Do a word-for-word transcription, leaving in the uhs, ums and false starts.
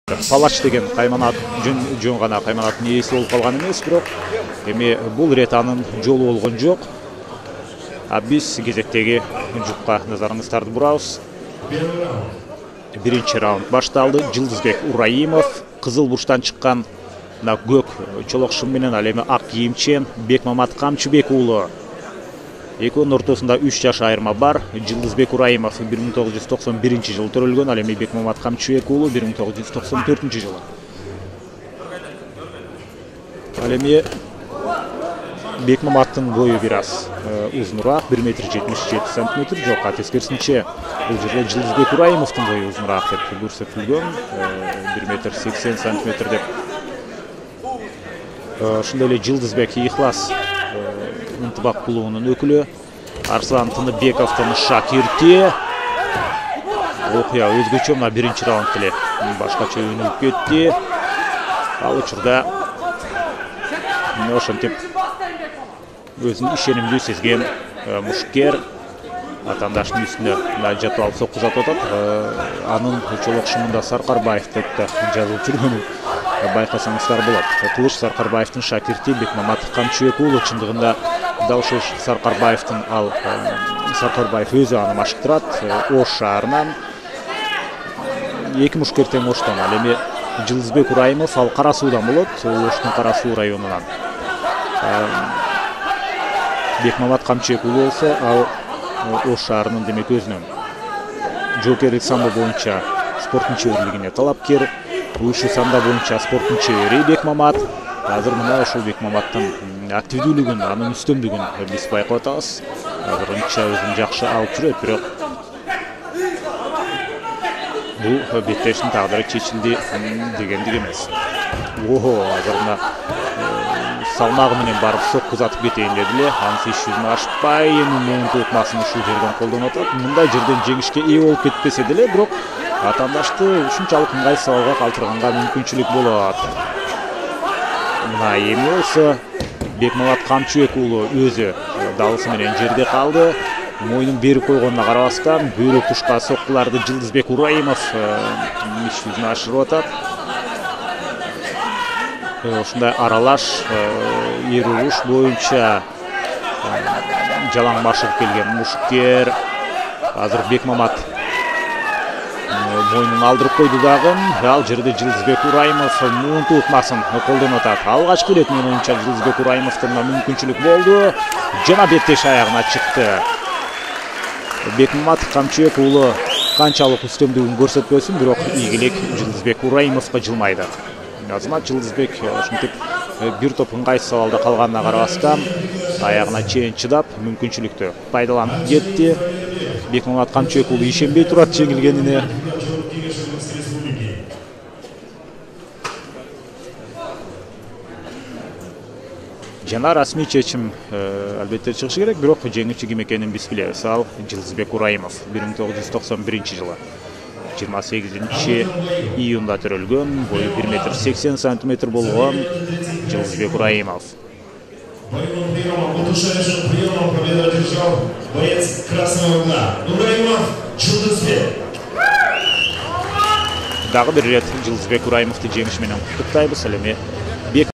Палач деген кайманат жөн гана кайманаттын ээси болуп калган эмес, бирок эми бул ирет анын жолу болгон жок. А биз кезектеги жупка назарыңыздарды бурабыз. Биринчи раунд башталды. Жылдызбек Ураимов кызыл бурчтан чыккан мына көк чолок шым менен ал эми ак кийимчен Бекмамат Камчыбек уулу. Экөөнүн ортосунда үч жаш айырма бар. Жылдызбек Ураимов бир миң тогуз жүз токсон биринчи жылы төрөлгөн, ал эми Бекмамат Камчыбек уулу бир миң тогуз жүз токсон төртүнчү жылы. Ал эми Бекмаматтын бою бир аз узунураак, бир метр жетимиш жети сантиметр, жок, тескерисинче бул жерде Жылдызбек Ураимовдун бою узунураак деп көрсөтүлгөн, бир метр сексен сантиметр деп. Ошондой эле Жылдызбек Ихлас Ынтыбак клубунун өкүлү, Арслан Тыныбековдун шакирти. Окуя өзгөчө мына биринчи раунд эле башкача өнүгүп кетти. Ал учурда ошентип өзүн ишенимдүү сезген мушкер атаандаштын үстүнө жатып алып сокку жатып атат. Анын чолок шымында Саркарбаев деп да жазылып жүргөнү байкасаңыздар болот. Тылыш Саркарбаевдин шакирти Бекмамат Камчыбек уулу, чындыгында дал ушул Саркарбаевдин ал Саркарбаев өзү аны машыктырат. Ош шаарынан эки мушкер тең Оштон. Ал эми Жылдызбек Ураимов ал Кара Суудан болот, Оштун Кара Суу районунан. Бекмамат Камчыбек уулу болсо ал Ош шаарынын демек өзүнүн жоокерлик самбо боюнча спорттун чеберлигине талапкер. Ушу самбо боюнча спорттун чебери Бекмамат. Азыр мына ушул Бекмаматтын активдүүлүгүн, анын үстөмдүгүн биз байкап атабыз. Азырынча өзүн жакшы алып жүрөт, бирок бул беттештин тагдыры чечилди дегендик эмес. Ого, азыр мына салмагы менен барып сокку затып кетейин деди эле. Анысы иш жүзүн ашпай, эми муун тутмасын ушул жерден колдонуп атат. Мындай жерден жеңишке ээ болуп кетпесе деле, бирок атаандашты ушунчалык ыңгайсыз абалга калтырганга мүмкүнчүлүк болот. Мына эми болсо Бекмамат Камчыбек уулу өзү далысы менен жерде калды. Мойнун берип койгонуна карабастан бөйрөк тушка соккуларды Жылдызбек Ураимов иш жүзүн ашырып атат. Ушундай аралаш эр уруш боюнча жалаң машыгып келген мушкер азыр Бекмамат мойнун алдырып койду дагы. Ал жерде Жылдызбек Ураимов муун тутмасын колдонуп атат. Алгачкы ирет менин оюмча Жылдызбек Ураимовдун мүмкүнчүлүк болду. Жана беттеш аягына чыкты. Бекмамат Камчыбек уулу канчалык үстөмдүгүн көрсөтпөсүн, бирок ийгилик Жылдызбек Ураимовго жылмайды. Азырмат Жылдызбек ушинтип бир топ ыңгайсыз абалда калганына карабастан аягына чейин чыдап мүмкүнчүлүктү пайдаланып кетти. Бекмамат Камчыбек уулу ишенбей турат жеңилгенине. Жана расмий чечим албетте чыгышы керек, бирок жеңүүчү ким экенин биз билебиз. Ал Жылдызбек Ураимов бир миң тогуз жүз токсон биринчи жылы жыйырма сегизинчи июнда төрөлгөн, бою бир метр сексен сантиметр болгон Жылдызбек Ураимов. Дагы бир ирет Жылдызбек Ураимовду жеңиш менен куттуктайбыз. Ал эми